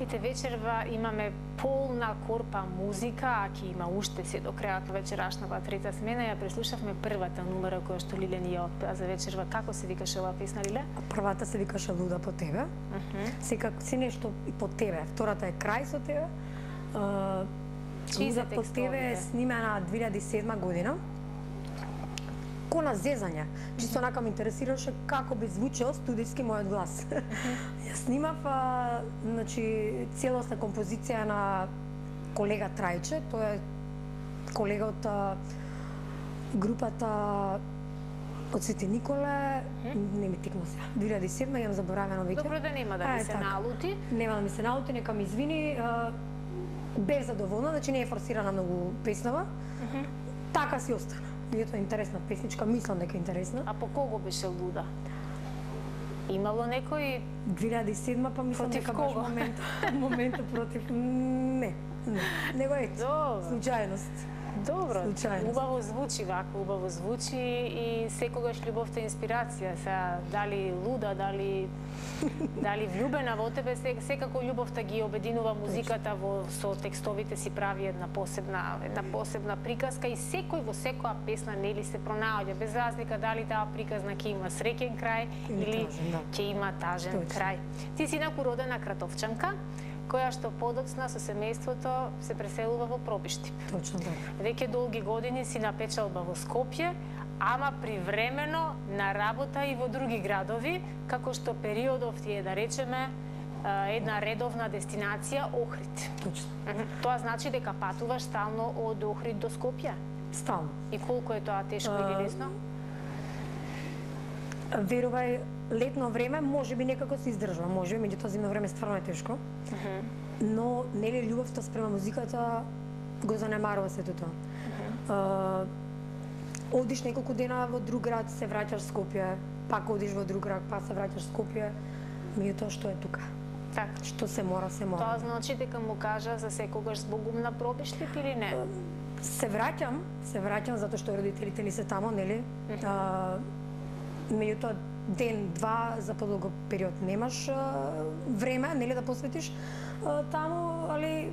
Ите вечерва имаме полна корпа музика, а ќе има уште се до крајот на вечерашната трета смена. Ја преслушавме првата номера која што Лиле ни ја отпеа за вечерва. Како се викаше оваа песна, Лиле? Првата се викаше Луда по тебе. Секако си нешто и по тебе. Втората е Крај со тебе. Луда по тебе е снимена 2007 година. Кона зезање. Чисто онака ме интересираше како би звучел студиски мојот глас. Ја снимав значи целосна композиција на колега Трајче, тој е колега од групата од Свети Николе, не ми текна сега. 2007 јам заборавено веќе. Добро да нема да ми се налути. Нема да ми се налути, нека ми извини. Бев задоволна, значи не е форсирана многу песнава. Така си остана. Ето интересна песничка, мислам дека е интересна. А по кого беше Луда? Имало некој 2007 па мислам дека баш моментот против не. Него е случајност. Добро, убаво звучи вака, убаво звучи и секогаш љубовта е инспирација. Сега дали Луда, дали влюбена во тебе, секако љубовта ги обединува музиката со текстовите си прави една посебна приказка и секој во секоја песна нели се пронаоѓа без разлика дали таа приказна ќе има среќен крај или ќе има тажен крај. Ти си инаку родена кратовчанка, која што подоцна со семејството се преселува во Пробиштип. Точно така. Веќе долги години си на печалба во Скопје, ама привремено на работа и во други градови, како што периодов ти е, да речеме, една редовна дестинација Охрид. Точно. Тоа значи дека патуваш стално од Охрид до Скопје? Стално. И колку е тоа тешко или лесно? Верувај, летно време можеби некако се издржува, можеби, меѓутоа зимно време стварно е тешко. Но нели љубовта спрема музиката го занемарува сето тоа. Одиш неколку дена во друг град, се враќаш в Скопје, пак одиш во друг град, па се враќаш в Скопје, меѓутоа што е тука? Така. Што се мора, се мора. Тоа значи дека му кажа за секогаш збогум на Пробиштип или не? Се враќам затоа што родителите ни се тамо, нели? Меѓутоа ден-два за подолго период немаш време, нели да посветиш таму, али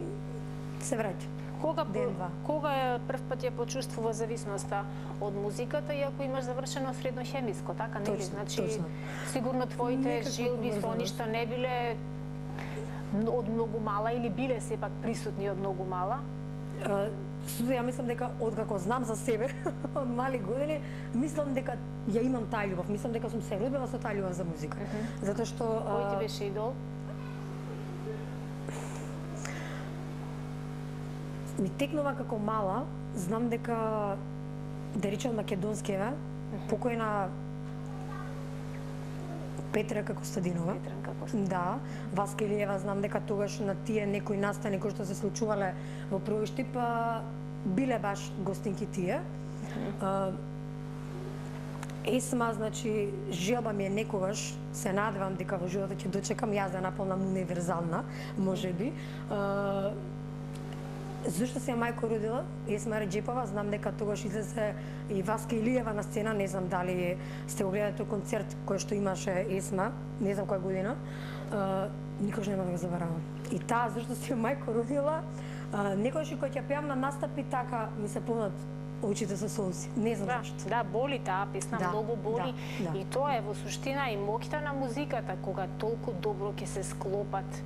се враќа. Кога е прв пат ја почувствува зависноста од музиката, иако имаш завршено средно хемиско, така нели? Значи сигурно твоите жилби со ништо не биле од многу мала или биле сепак присутни од многу мала? Ја мислам дека откако знам за себе од мали години, мислам дека ја имам таа љубов. Мислам дека сум се родила со таа љубов за музика. Затоа што кој ти беше идол? Ми текнува како мала, знам дека да речем македонскиве, покојна Петрака Костадинова. Да, Васка Илиева, знам дека тогаш на тие некои настани кои што се случувале во Пробиштип биле баш гостинки тие. Есма, значи, желба ми е некогаш, се надевам дека во животот ќе дочекам, јас да наполнам универзална, можеби. Зошто се мајко родила? Есма Реджепова, знам дека тогаш излезе и Васка Илиева на сцена, не знам дали сте го гледате концерт кој што имаше Есма, не знам која година, никош нема да го заборавам. И таа зошто се мајко родила, некојаш и кој ќе пеам на настапи, така ми се полнат очите со солзи. Не знам зашто. Да, боли таа песна, многу боли. И тоа е во суштина и моќта на музиката, кога толку добро ќе се склопат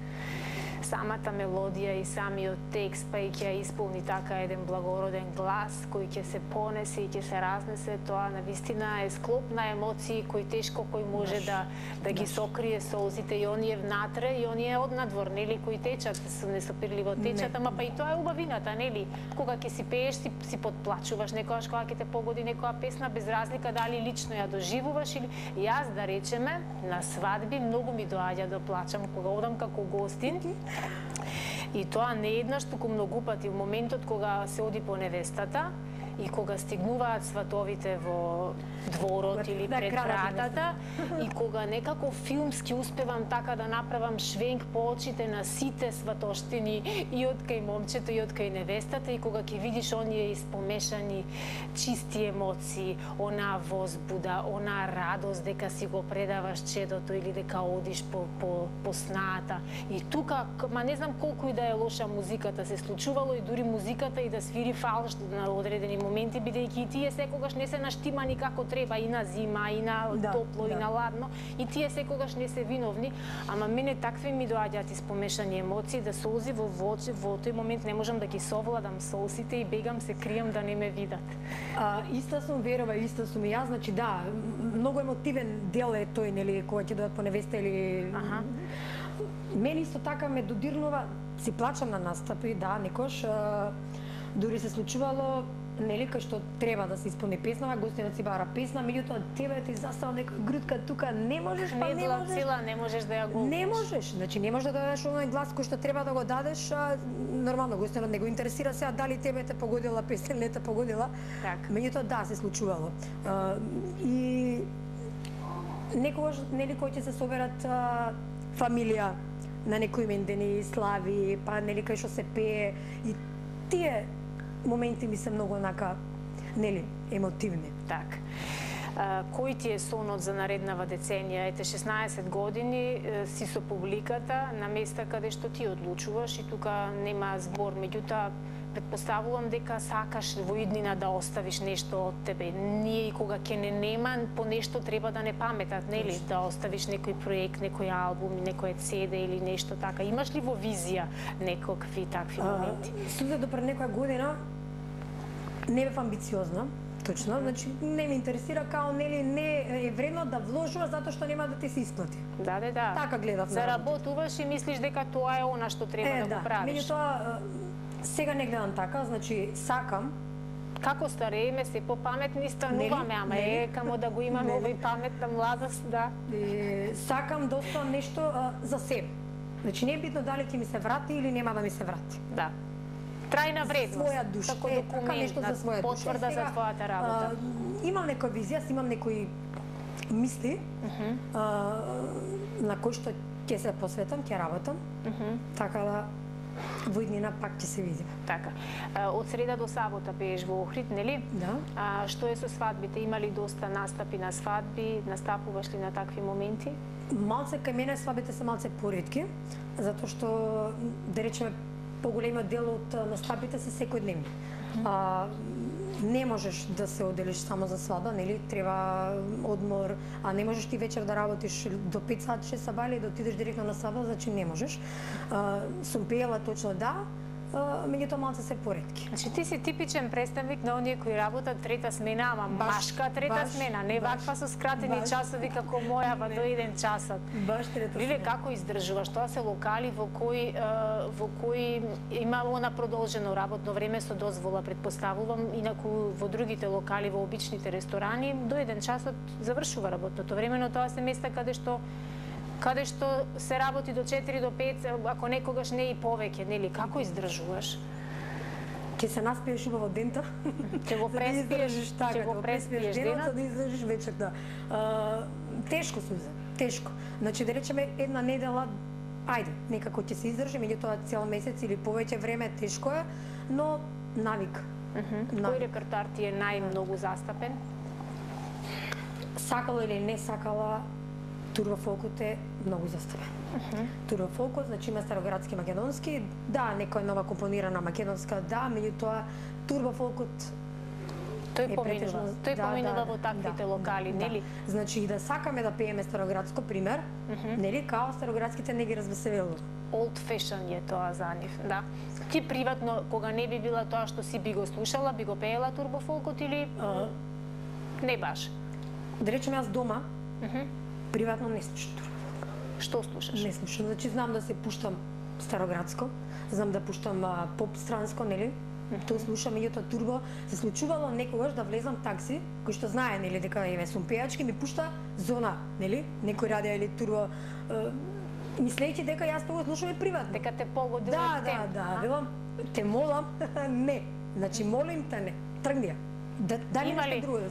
самата мелодија и самиот текст, па и ќе исполни така еден благороден глас кој ќе се понесе и ќе се разнесе, тоа навистина е склоп на емоции кој тешко кој може да ги сокрие солзите и оние внатре и оние однадвор, нели, кои течат, несопирливо течат, ама па и тоа е убавината, нели? Кога ќе си пееш, си подплачуваш некогаш кога ќе те погоди некоја песна, без разлика дали лично ја доживуваш или јас, да речеме, на свадби многу ми доаѓа да плачам кога одам како гостин. И тоа не еднаш, туку многу пати. Во моментот кога се оди по невестата и кога стигнуваат сватовите во дворот или пред вратата, и кога некако филмски успевам така да направам швенк по очите на сите сватоштини, и од кај момчето и од кај невестата, и кога ќе видиш оние испомешани чисти емоции, она возбуда, она радост дека си го предаваш чедото или дека одиш по снаата. И тука, ма не знам колку и да е лоша музиката, се случувало и дури музиката и да свири фалш на одредени моменти, бидејќи и тие секогаш не се наштимани како треба, и на зима, и на топло, и на ладно, и тие секогаш не се виновни, ама мене такви ми доаѓаат испомешани емоции, да солзи во тој момент не можам да ги совладам солзите и бегам, се кријам да не ме видат. Иста сум верова, иста сум и јас, значи да, многу емотивен дел е тој, нели, кога ќе дојдат по невеста или... Мене исто така ме додирнува, си плачам на настапи, да, некош, дури се случувало, нели, кај што треба да се исполни песнава, гостинот си бара песна, меѓутоа тебе ти застава некоја грудка тука, не можеш, па не можеш. Цела, не можеш да ја голиш. Не можеш, значи не можеш да дадеш оној глас кој што треба да го дадеш, нормално гостинот не го интересира сега дали тебе те погодила песна или не те погодила. Меѓутоа да, се случувало. И некогаш, нели, кој ќе се соберат фамилија на некои имендени слави, па нели кај што се пее, и тие моменти ми се многу онака, нели, емотивни. Так. Кој ти е сонот за нареднава деценија? Ете, 16 години си со публиката на места каде што ти одлучуваш и тука нема збор, меѓутоа претпоставувам дека сакаш во иднина да оставиш нешто од тебе. Ние и кога ќе не нема, по нешто треба да не паметат, нели? Да оставиш некој проект, некој албум, некој CD или нешто така. Имаш ли во визија некакви такви моменти? Суза до пред некоја година не бев амбициозна, точно, значи не ме интересира, као нели не е вредно да вложуваш затоа што нема да ти се исплати. Да. Така гледав. Заработуваш и мислиш дека тоа е она што треба да го правиш. Меѓутоа сега не гледам така, значи сакам. Како старееме, се попаметни стануваме, ама камо да го имаме овој паметна младост, да. Сакам да оставам нешто за себе. Значи не е битно дали ќе ми се врати или нема да ми се врати. Да. Трајна вредност. Своја душа, како документ, потврда за твојата работа. Имам некоја визија, имам некои мисли на кои што ќе се посветам, ќе работам. Така да во иднина пак ќе се видиме. Така. Од среда до сабота пееш во Охрид, нели? Да. Што е со свадбите? Има ли доста настапи на свадби? Настапуваш ли на такви моменти? Малце кај мене свадбите се малце поретки, затоа што, да речеме, поголемиот дел од настапите се секојдневни. Не можеш да се оделиш само за свадба, нели? Треба одмор, а не можеш ти вечер да работиш до 5 сат, 6 сабали, да отидеш директно на свадба, значи не можеш. Сум пеела точно да, меѓутоа малце се поретки. Значи ти си типичен представник на оние кои работат трета смена, ама машка трета смена, не ваква со скратени часови како мојава до 1 часот. Баш трета смена. Лиле, како издржуваш? Тоа се локали во кои има она продолжено работно време со дозвола, предпоставувам, инаку во другите локали, во обичните ресторани, до 1 часот завршува работното време, но тоа се места каде што се работи до 4 до 5, ако некогаш не и повеќе, нели? Како издржуваш? Ќе се наспиеш убаво дента. Ќе го преспиеш, денот, да издржиш вечерта. Тешко Суза, тешко. Значи да речеме една недела, ајде, некако ќе се издржи, меѓутоа цел месец или повеќе време тешко е, но навик. Кој репертоар ти е најмногу застапен? Сакала или не сакала, турбофолкот е многу застапен. Турбофолкот, значи има староградски македонски, да, некоја нова компонирана македонска, да, меѓутоа турбофолкот тој поминува во таквите локали, нели? Значи и да сакаме да пееме староградско, пример, нели, као староградските не ги развеселило. Old fashion е тоа за нив, да. Ти приватно, кога не би била тоа што си би го слушала, би го пеела турбофолкот или не баш? Да речем јас дома, приватно не слушам турбофолк. Што слушаш? Не слушам, значи знам да се пуштам староградско, знам да пуштам поп странско, нели? Тоа слушам, меѓутоа турбо се случувало некогаш да влезам такси, кој што знае, нели, дека еве сум пејачки, ми пушта зона, нели? Некој радио или турбо, мислејќи дека јас тоа слушам и приватно. Дека те погодила тем. Да, велам, те молам, не. Значи молим те не. тргни.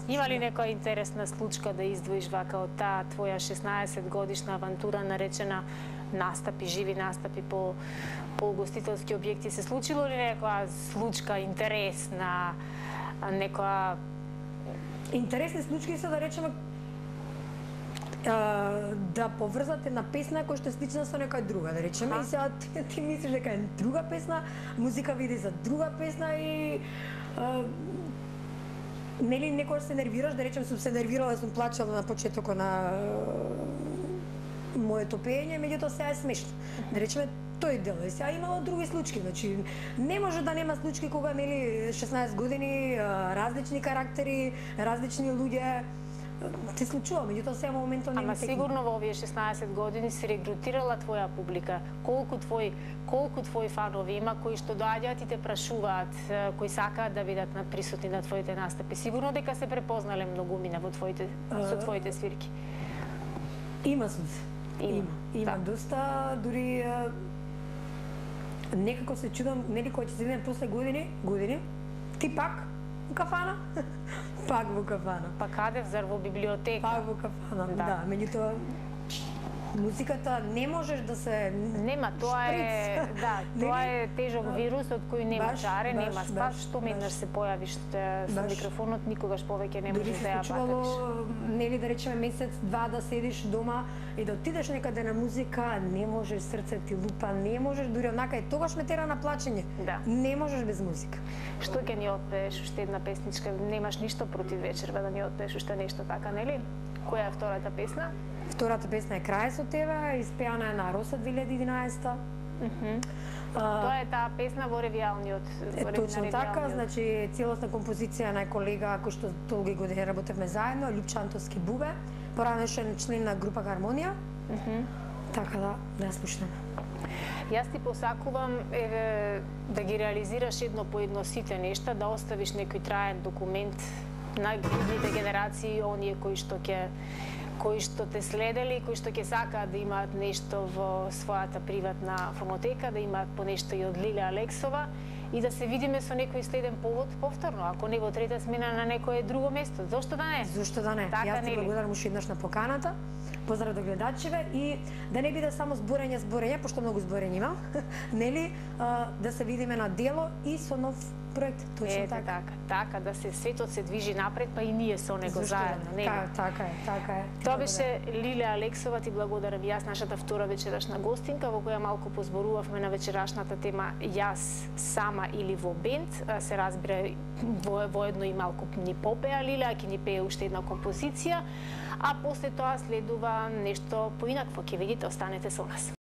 Има ли некоја интересна случка да издвоиш вака од таа твоја 16 годишна авантура наречена настапи, живи настапи по угостителски објекти? Се случило ли некоја случка интересна, некоја... Интересни случаи се, да речеме, да поврзате на песна која што е слична со некоја друга, да речеме, и сега ти мислиш дека е друга песна, музика види за друга песна и нели некојаш се нервираш, да речем, сум се нервирала, сум плачала на почетокот на моето пеење, меѓутоа сега е смешно. Да речеме, тој дел. И сега имало други случаи, значи не може да нема случаи кога нели 16 години, различни карактери, различни луѓе се случува, меѓутоа сега моментот не е. Ама сигурно во овие 16 години си регрутирала твоја публика. Колку твои фанови има кои што доаѓаат и те прашуваат, кои сакаат да бидат присутни на твоите настапи? Сигурно дека се препознале многумина во со твоите свирки. Има случаи. Има доста, дури некако се чудам, нели кој ќе се видиме после години, ти пак во кафана? Пак во кафана. Па каде, зар во библиотека? Пак во кафана, да. Меѓутоа, музиката не можеш да се... Нема, тоа е, да, тоа е тежок вирус од кој нема чаре, нема спас, што еднаш се појавиш со микрофонот, никогаш повеќе не можеш да ја патиш. Нели да речеме месец, два да седиш дома и да отидеш некаде на музика, не можеш, срце ти лупа, не можеш, дури онака и тогаш ме тера на плачење. Да. Не можеш без музика. Што ќе ни отпееш уште една песничка? Немаш ништо против вечерва да ни отпееш уште нешто така, нели? Која е втората песна? Втората песна е Крај со тебе, испеана е на Роса 2011. Тоа е таа песна во ревијалниот. Точно така, значи целосна композиција на колега кој што долги години работевме заедно, Љупчо Антовски Бубе, поранешен член на група Хармонија. Така да ја слушнеме. Јас ти посакувам да ги реализираш едно по едно сите нешта, да оставиш некој траен документ на идните генерации, оние кои што те следели, кои што ќе сакаат да имаат нешто во својата приватна фонотека, да имаат по нешто и од Лиле Алексова и да се видиме со некој следен повод повторно, ако не во трета смена на некое друго место. Зошто да не? Зошто да не? Така, јас ти благодарам уште еднаш на поканата. Поздрав до гледачеве и да не биде само зборење, пошто многу зборење имам, нели, да се видиме на дело и со нов проект, точно така, да се светот се движи напред, па и ние со него заедно, нели? Така е. Тоа беше Лиле Алексова, ти благодарам јас, нашата втора вечерашна гостинка, во која малку позборувавме на вечерашната тема јас сама или во бенд, се разбира воедно и малку ни попеа Лиле, а ќе ни пее уште една композиција, а после тоа следува нешто поинакво, ќе видите, останете со нас.